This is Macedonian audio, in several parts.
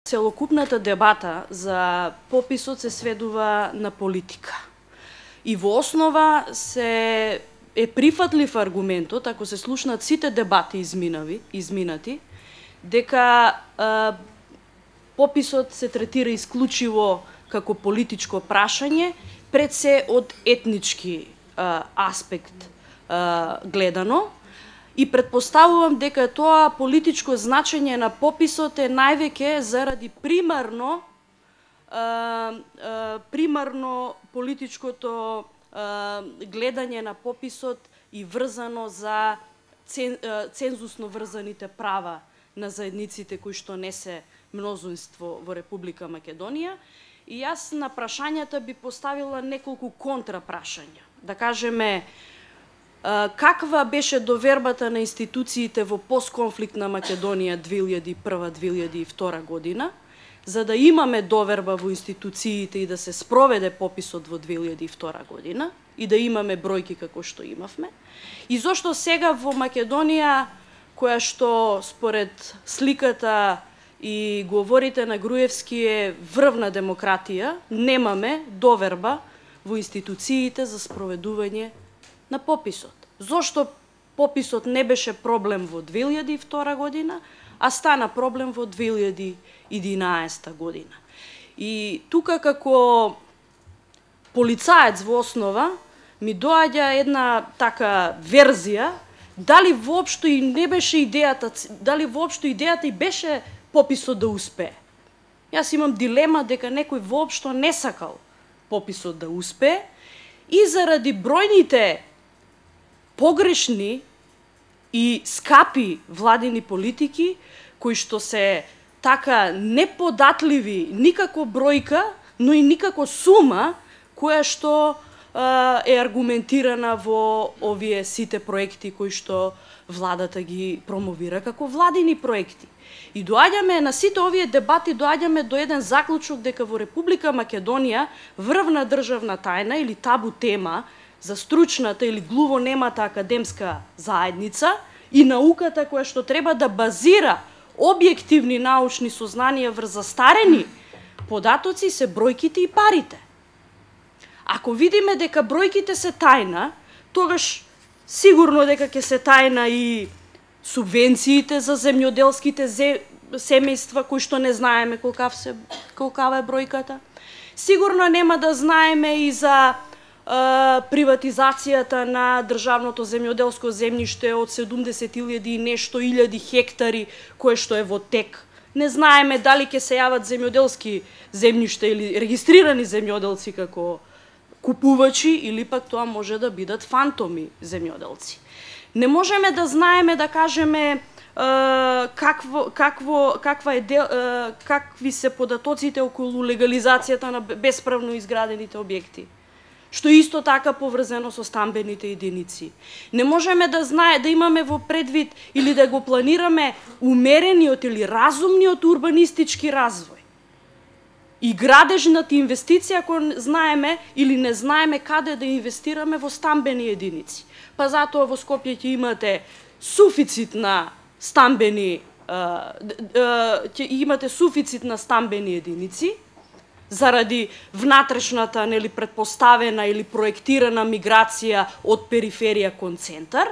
Целокупната дебата за пописот се сведува на политика. И во основа е прифатлив аргументот, ако се слушнат сите дебати изминати, дека пописот се третира исклучиво како политичко прашање, пред се од етнички аспект гледано, и предпоставувам дека тоа политичко значење на пописот е највеќе заради примарно политичкото гледање на пописот и врзано за цензусно врзаните права на заедниците кои што не се мнозинство во Република Македонија. И јас на прашањата би поставила неколку контрапрашања. Да кажеме, каква беше довербата на институциите во постконфликтна Македонија 2001-2002 година, за да имаме доверба во институциите и да се спроведе пописот во 2002 година и да имаме бројки како што имавме, и зошто сега во Македонија, која што според сликата и говорите на Груевски е врвна демократија, немаме доверба во институциите за спроведување на пописот. Зошто пописот не беше проблем во 2002 година, а стана проблем во 2011 година. И тука како полицаец во основа ми доаѓа една така верзија, дали воопшто и не беше идејата, дали воопшто идејата и беше пописот да успее. Јас имам дилема дека некој воопшто не сакал пописот да успее и заради бројните погрешни и скапи владини политики, кои што се така неподатливи никако бројка, но и никако сума, која што е аргументирана во овие сите проекти кои што владата ги промовира како владини проекти. И доаѓаме на сите овие дебати, доаѓаме до еден заклучок дека во Република Македонија врвна државна тајна или табу тема за стручната или глувонемата академска заедница и науката која што треба да базира објективни научни сознанија врз застарени податоци се бројките и парите. Ако видиме дека бројките се тајна, тогаш сигурно дека ќе се тајна и субвенциите за земјоделските семејства кои што не знаеме колкава е бројката. Сигурно нема да знаеме и за приватизацијата на државното земјоделско земјиште од 70.000 и нешто илјади хектари кое што е во тек. Не знаеме дали ќе се јават земјоделски земјишта или регистрирани земјоделци како купувачи или пак тоа може да бидат фантоми земјоделци. Не можеме да знаеме, да кажеме, какви се податоците околу легализацијата на бесправно изградените објекти, што исто така поврзано со стамбените единици. Не можеме да имаме во предвид или да го планираме умерениот или разумниот урбанистички развој и градежната инвестиција, ако знаеме или не знаеме каде да инвестираме во стамбени единици. Па затоа во Скопје ќе имате суфицит на стамбени единици заради внатрешната претпоставена или проектирана миграција од периферија кон центар,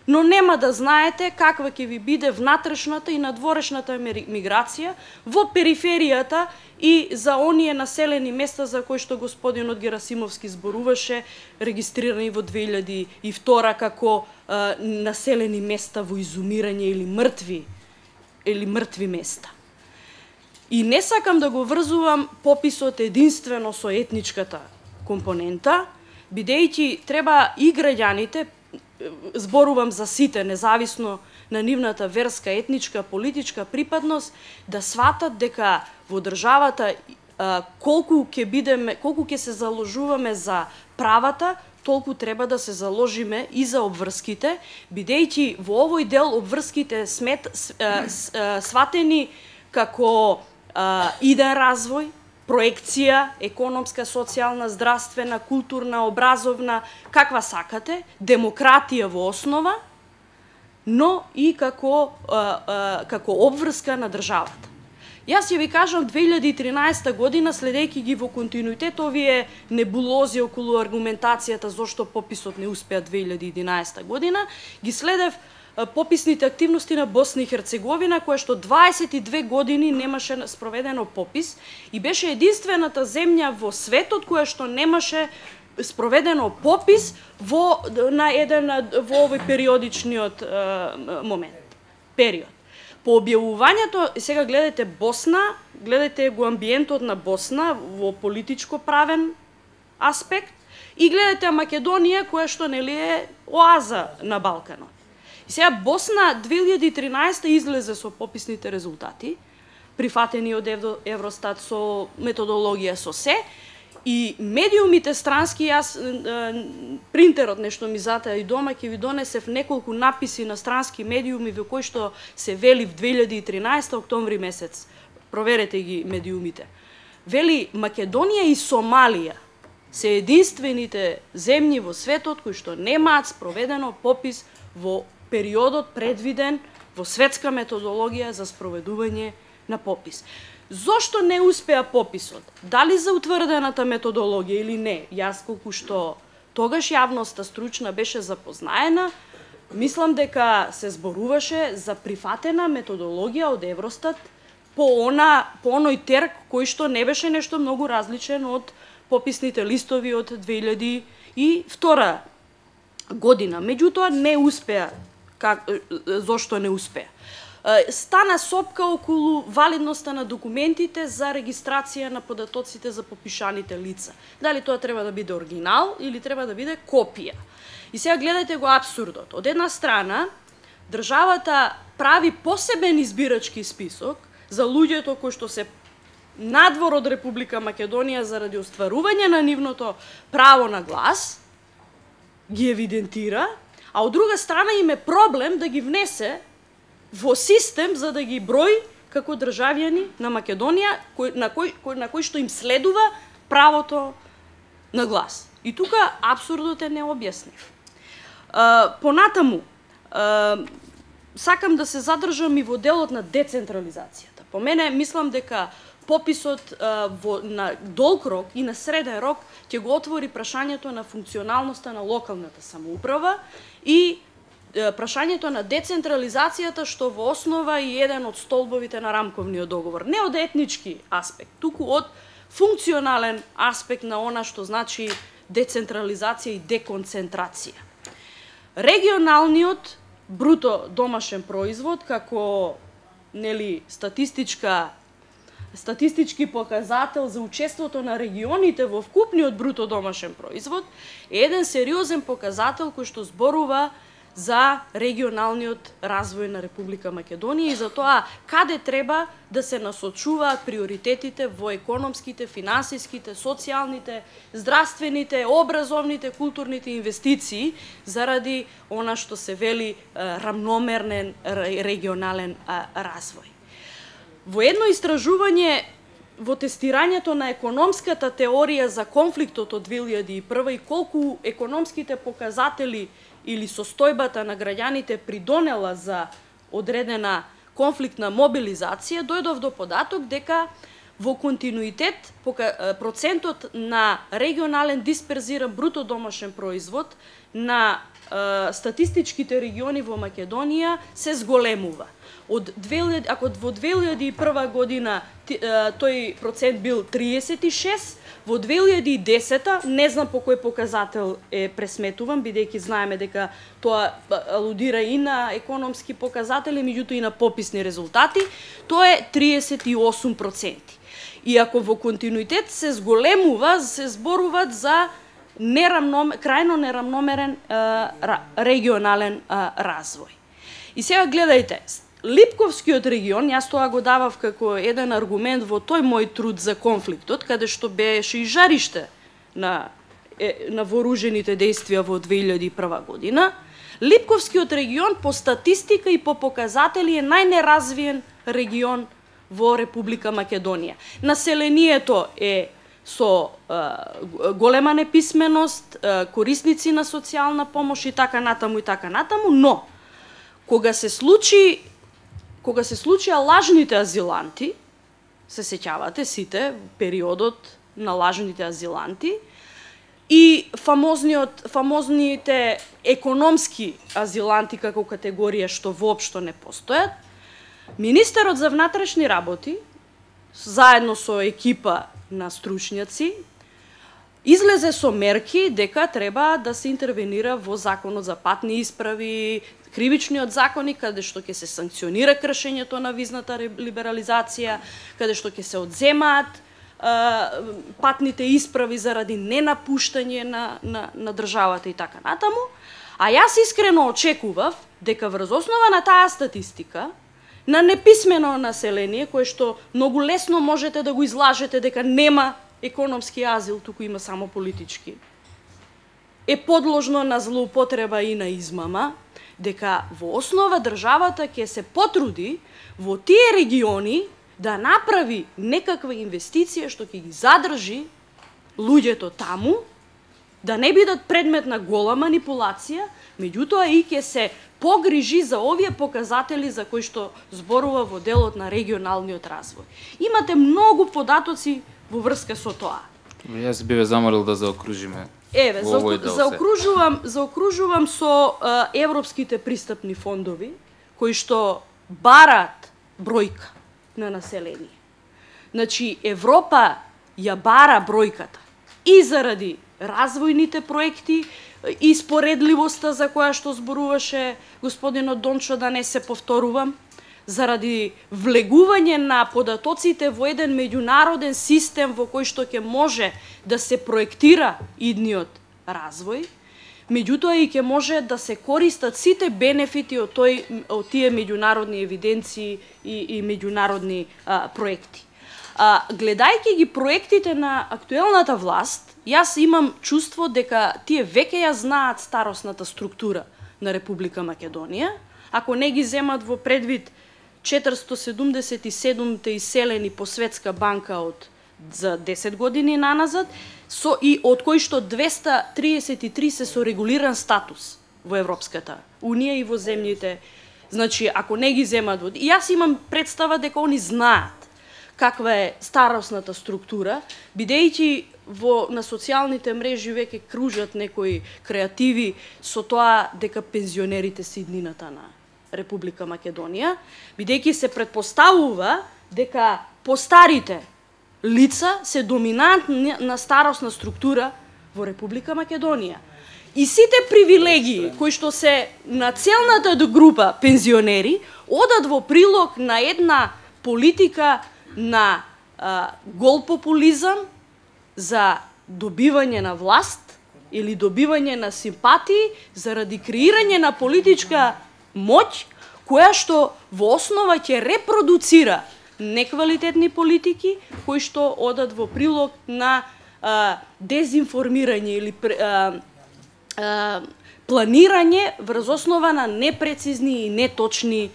но нема да знаете каква ќе ви биде внатрешната и надворешната миграција во периферијата и за оние населени места за кои што господинот Герасимовски зборуваше, регистрирани во 2002 како населени места во изумирање или мртви места. И не сакам да го врзувам пописот единствено со етничката компонента, бидејќи треба и граѓаните, зборувам за сите, независно на нивната верска, етничка, политичка припадност, да сватат дека во државата колку ќе се заложуваме за правата, толку треба да се заложиме и за обврските, бидејќи во овој дел обврските сватени како иден развој, проекција, економска, социјална, здравствена, културна, образовна, каква сакате, демократија во основа, но и како обврска на државата. Јас ќе ви кажам 2013 година, следејќи ги во континуитет овие небулози околу аргументацијата зошто пописот не успеа 2011 година, ги следев пописните активности на Босна и Херцеговина, која што 22 години немаше спроведено попис и беше единствената земја во светот која што немаше спроведено попис во овој периодичниот период. По објавувањето, сега гледате Босна, гледате го амбиентот на Босна во политичко правен аспект и гледате Македонија која што нели е оаза на Балканот. И сега Босна 2013 излезе со пописните резултати, прифатени од Евростат со методологија со се, и медиумите странски, јас принтерот нешто ми затаја и дома, ќе ви донесев неколку написи на странски медиуми во кои што се вели в 2013 октомври месец. Проверете ги медиумите. Вели Македонија и Сомалија се единствените земји во светот кои што немаат спроведено попис во периодот предвиден во светска методологија за спроведување на попис. Зошто не успеа пописот? Дали за утврдената методологија или не? Јас колку што тогаш јавноста стручна беше запознаена, мислам дека се зборуваше за прифатена методологија од Евростат по оној терк кој што не беше нешто многу различен од пописните листови од 2002 година. Меѓутоа не успеа. Зошто не успеа? Стана сопка околу валидноста на документите за регистрација на податоците за попишаните лица. Дали тоа треба да биде оригинал или треба да биде копија. И сега гледате го апсурдот. Од една страна, државата прави посебен избирачки список за луѓето кои што се надвор од Република Македонија заради остварување на нивното право на глас, ги евидентира, а од друга страна им е проблем да ги внесе во систем за да ги брои како државјани на Македонија на кој што им следува правото на глас. И тука апсурдот е необјаснив. Понатаму, сакам да се задржам и во делот на децентрализацијата. По мене, мислам дека пописот на долг рок и на среден рок ќе го отвори прашањето на функционалноста на локалната самоуправа и прашањето на децентрализацијата, што во основа е еден од столбовите на рамковниот договор. Не од етнички аспект, туку од функционален аспект на она што значи децентрализација и деконцентрација. Регионалниот бруто домашен производ како статистички показател за учеството на регионите во вкупниот бруто домашен производ е еден сериозен показател кој што зборува за регионалниот развој на Република Македонија и за тоа каде треба да се насочуваат приоритетите во економските, финансиските, социјалните, здравствените, образовните, културните инвестиции заради она што се вели рамномерен регионален развој. Во едно истражување во тестирањето на економската теорија за конфликтот од 2001 и колку економските показатели или состојбата на граѓаните придонела за одредена конфликтна мобилизација, дојдов до податок дека во континуитет процентот на регионален дисперзиран бруто домашен производ на статистичките региони во Македонија се зголемува. Ако во 2001 година тој процент бил 36, во 2010, не знам по кој показател е пресметуван, бидејќи знаеме дека тоа алудира и на економски показатели, меѓутоа и на пописни резултати, тоа е 38%. И ако во континуитет се зголемува, се зборуваат за крајно нерамномерен регионален развој. И сега гледајте, Липковскиот регион, јас тоа го давав како еден аргумент во тој мој труд за конфликтот, каде што беше и жариште на вооружените дејствија во 2001 година, Липковскиот регион по статистика и по показатели е најнеразвиен регион во Република Македонија. Населението е со голема неписменост, корисници на социјална помош и така натаму, но кога се случија лажните азиланти, се сеќавате сите, периодот на лажните азиланти, и фамозните економски азиланти како категорија што воопшто не постојат, министерот за внатрешни работи, заедно со екипа на стручњаци, излезе со мерки дека треба да се интервенира во законот за патни исправи, кривичниот законник, каде што ќе се санкционира кршењето на визната либерализација, каде што ќе се одземаат патните исправи заради ненапуштање на државата и така натаму. А јас искрено очекував дека врз основа на таа статистика, на неписмено население, кое што многу лесно можете да го излажете дека нема економски азил, туку има само политички, е подложно на злоупотреба и на измама, дека во основа државата ќе се потруди во тие региони да направи некаква инвестиција што ќе ги задржи луѓето таму, да не бидат предмет на гола манипулација, меѓутоа и ќе се погрижи за овие показатели за кои што зборува во делот на регионалниот развој. Имате многу податоци во врска со тоа. Јас би ве замолил да заокружиме. Еве, заокружувам со европските пристапни фондови, кои што барат бројка на население. Значи, Европа ја бара бројката и заради развојните проекти и споредливоста за која што зборуваше господинот Дончо, да не се повторувам, заради влегување на податоците во еден меѓународен систем во кој што ќе може да се проектира идниот развој, меѓутоа и ќе може да се користат сите бенефити од тие меѓународни евиденции и меѓународни проекти. Гледајќи ги проектите на актуелната власт, јас имам чувство дека тие веќе ја знаат старосната структура на Република Македонија, ако не ги земат во предвид 477-те иселени по Светска банка за 10 години наназад, и од кои што 233 се со регулиран статус во Европската Унија и во земјите. Значи, ако не ги земат во... Јас имам представа дека они знаат каква е старосната структура, бидејќи на социјалните мрежи веќе кружат некои креативи со тоа дека пензионерите се иднината на Република Македонија, бидејќи се претпоставува дека постарите лица се доминантни на старосна структура во Република Македонија. И сите привилегии кои што се на целната група пензионери одат во прилог на една политика на гол популизам за добивање на власт или добивање на симпатии заради креирање на политичка моќ, која што во основа ќе репродуцира неквалитетни политики кои што одат во прилог на дезинформирање или планирање врз основа на непрецизни и неточни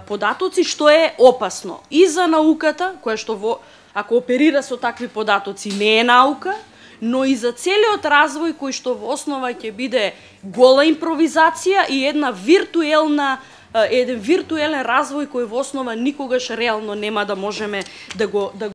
податоци, што е опасно и за науката, која што ако оперира со такви податоци не е наука, но и за целиот развој кој што во основа ќе биде гола импровизација и еден виртуелен развој кој во основа никогаш реално нема да можеме да го